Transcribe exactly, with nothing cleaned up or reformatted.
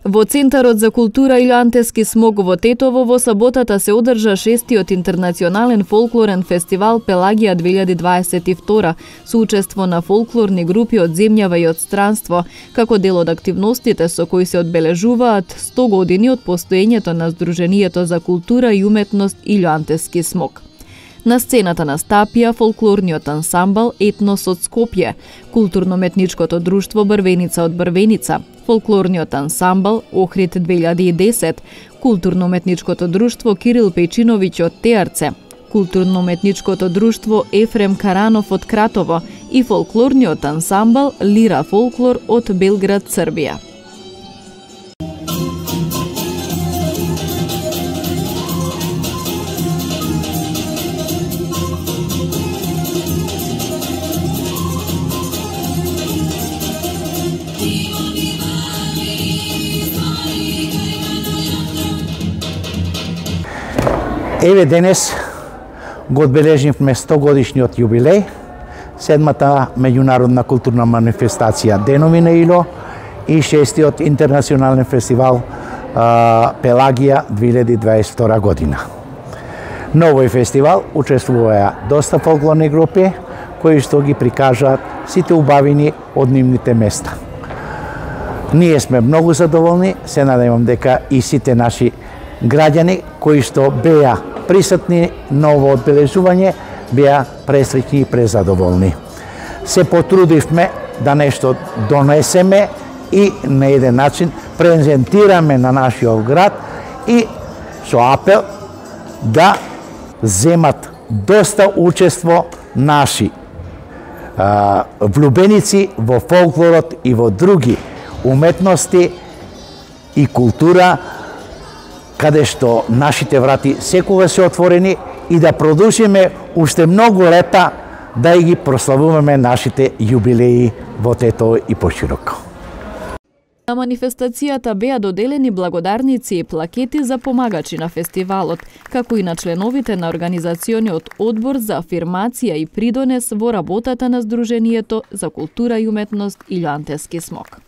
Во Центарот за култура Илјоантески смок во Тетово во саботата се одржа шестиот интернационален фолклорен фестивал Пелагија две илјади дваесет и втора со учество на фолклорни групи од земјава и од странство, како дел од активностите со кои се одбележуваат сто години од постоењето на Сдруженијето за култура и уметност Илјоантески смок. На сцената настапија фолклорниот ансамбл Етнос од Скопје, културно-метничкото друштво Брвеница од Брвеница, фолклорниот ансамбл Охрид две илјади и десет, културно-метничкото друштво Кирил Пејчиновиќ од Теарце, културно-метничкото друштво Ефрем Каранов од Кратово и фолклорниот ансамбл Лира Фолклор од Белград, Србија. Еве денес го одбележивме сто годишниот јубилеј, седмата меѓународна културна манифестација Денови на Ило и шестиот интернационален фестивал а, Пелагија две илјади дваесет и втора година. На овој фестивал учествуваа доста фолклорни групи кои што ги прикажаат сите убавини од нивните места. Ние сме многу задоволни, се надевам дека и сите наши граѓани кои што беа присутни на ово одбележување беа пресреќни и презадоволни. Се потрудивме да нешто донесеме и на еден начин презентираме на нашиот град и со апел да земат доста учество наши а, влюбеници во фолклорот и во други уметности и култура, каде што нашите врати секогаш се отворени и да продолжиме уште многу лета да ги прославуваме нашите јубилеи во Тетово и пошироко. На манифестацијата беа доделени благодарници и плакети за помагачи на фестивалот, како и на членовите на Организациониот одбор за афирмација и придонес во работата на Сдруженијето за култура и уметност Илјоантески смок.